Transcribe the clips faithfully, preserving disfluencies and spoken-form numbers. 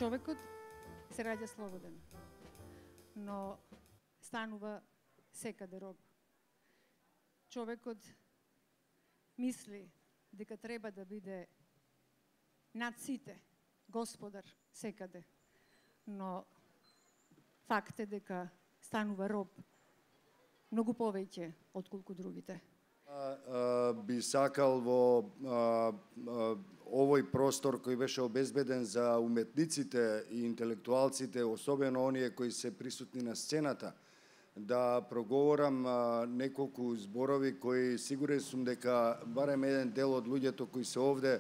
Човекот се раѓа слободен, но станува секаде роб. Човекот мисли дека треба да биде над сите, господар секаде, но факт е дека станува роб многу повеќе отколку другите. А, а, би сакал во а, а, овој простор кој беше обезбеден за уметниците и интелектуалците, особено оние кои се присутни на сцената, да проговорам а, неколку зборови кои сигурен сум дека барем еден дел од луѓето кои се овде,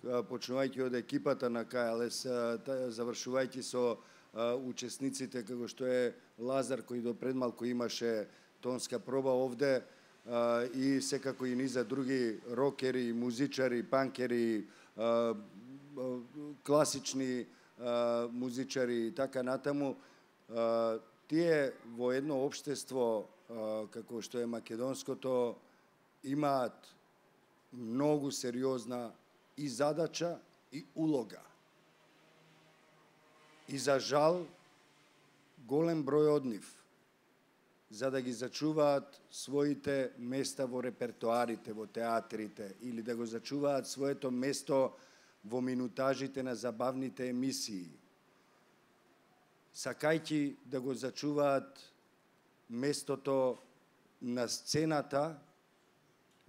а, почнувајќи од екипата на К Л С, а, завршувајќи со а, учесниците како што е Лазар кој до пред малку имаше тонска проба овде, Uh, и секако и низа други рокери, музичари, панкери, uh, uh, класични uh, музичари и така натаму. Uh, тие во едно општество uh, како што е македонското имаат многу сериозна и задача и улога. И за жал голем број од нив, за да ги зачуваат своите места во репертоарите, во театрите, или да го зачуваат своето место во минутажите на забавните емисии, сакајќи да го зачуваат местото на сцената,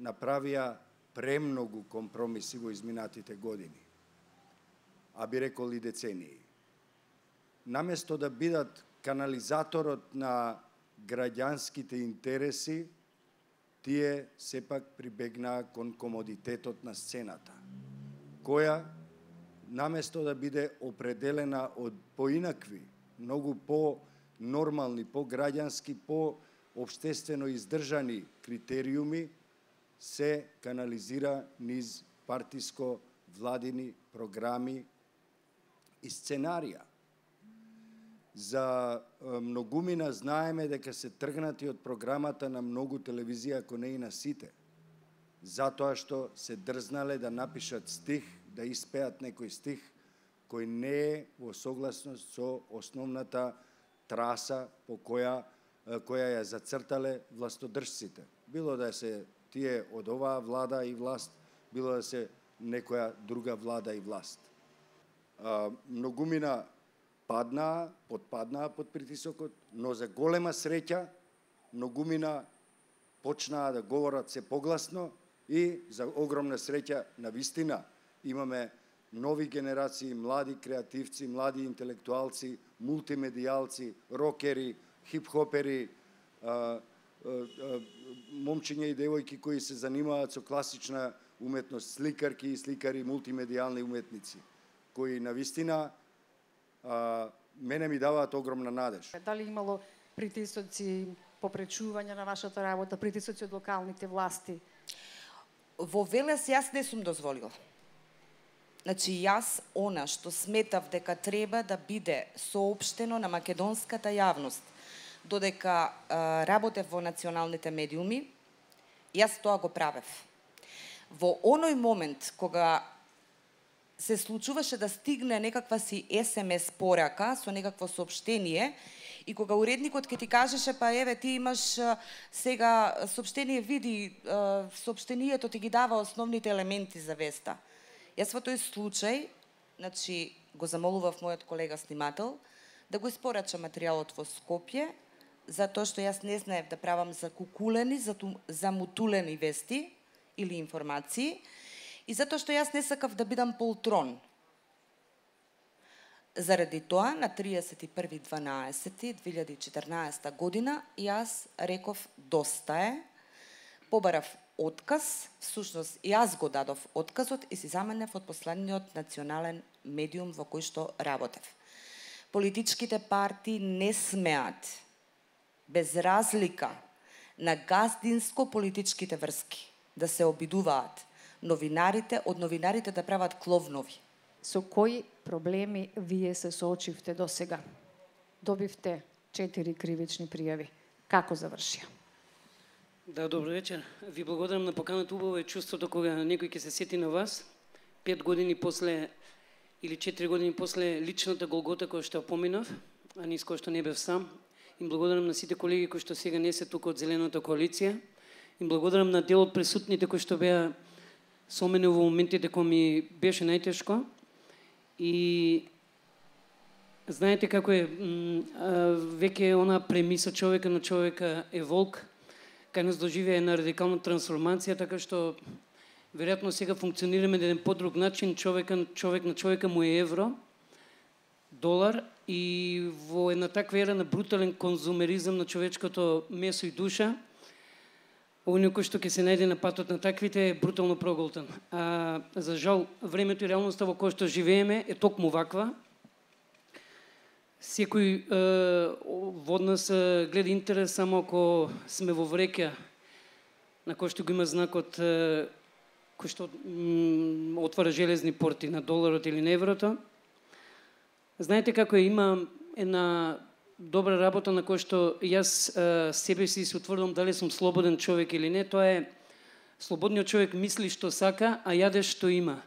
направија премногу компромиси во изминатите години, а би рекол и децении. Наместо да бидат канализаторот на граѓанските интереси, тие сепак прибегнаа кон комодитетот на сцената, која, наместо да биде определена од поинакви, многу по-нормални, по-граѓански, по-обштествено издржани критериуми, се канализира низ партиско-владини програми и сценарија. За многумина знаеме дека се тргнати од програмата на многу телевизија, ако не и на сите, затоа што се дрзнале да напишат стих, да испеат некој стих кој не е во согласност со основната траса по која која ја зацртале властодржците. Било да се тие од оваа влада и власт, било да се некоја друга влада и власт. А, многумина паднаа, подпаднаа под притисокот, но за голема среќа многумина почнаа да говорат се погласно и за огромна среќа навистина имаме нови генерации, млади креативци, млади интелектуалци, мултимедијалци, рокери, хип-хопери, а, а, а, момчиња и девојки кои се занимаваат со класична уметност, сликарки и сликари, мултимедијални уметници, кои навистина а, мене ми даваат огромна надеж. Дали имало притисоци, попречување на вашата работа, притисоци од локалните власти? Во Велес јас не сум дозволила. Значи, јас она што сметав дека треба да биде соопштено на македонската јавност, додека а, работев во националните медиуми, јас тоа го правев. Во оној момент кога се случуваше да стигне некаква си ес ем ес порака со некакво соопштение и кога уредникот ќе ти кажеше па еве ти имаш а, сега соопштение, види а, соопштението ти ги дава основните елементи за веста. Јас во тој случај, значи, го замолував мојот колега снимател да го испорача материјалот во Скопје, затоа што јас не знаев да правам закукулени, замутулени вести или информации, и затоа што јас не сакав да бидам полтрон. Заради тоа, на триесет и први дванаесети две илјади и четрнаесета година, јас реков доста е, побарав отказ, всушност јас го дадов отказот и си заменев од последниот национален медиум во кој што работев. Политичките партии не смеат, без разлика на газдинско политичките врски, да се обидуваат новинарите, од новинарите да прават кловнови. Со кои проблеми вие се соочивте до сега? Добивте четири кривични пријави. Како завршија? Да, добро вечер. Ви благодарам на поканата. Убаво е чувството кога некој ќе се сети на вас. Пет години после или четири години после личната голгота која што поминав, а низ која што не бев сам. Им благодарам на сите колеги кои што сега не се тука од Зелената коалиција. Им благодарам на дел од присутните кои што беа со мене во моментите кои ми беше најтешко. И знаете како е, веќе она премиса човека на човека е волк, кај нас доживеа една радикална трансформација, така што веројатно сега функционираме на еден подруг начин, човека, човек на човека му е евро, долар, и во една таква ера на брутален конзумеризам на човечкото месо и душа, оној кој што ќе се најде на патот на таквите е брутално проголтан. А, за жал, времето и реалноста во која што живееме е токму ваква. Секој е, од нас е, гледа интерес само ако сме во врека на кој што го има знакот е, кој што м, отвара железни порти на доларот или на еврото. Знаете како е, има една добра работа на која што јас е, себе си се утврдам дали сум слободен човек или не. Тоа е слободниот човек мисли што сака, а јаде што има.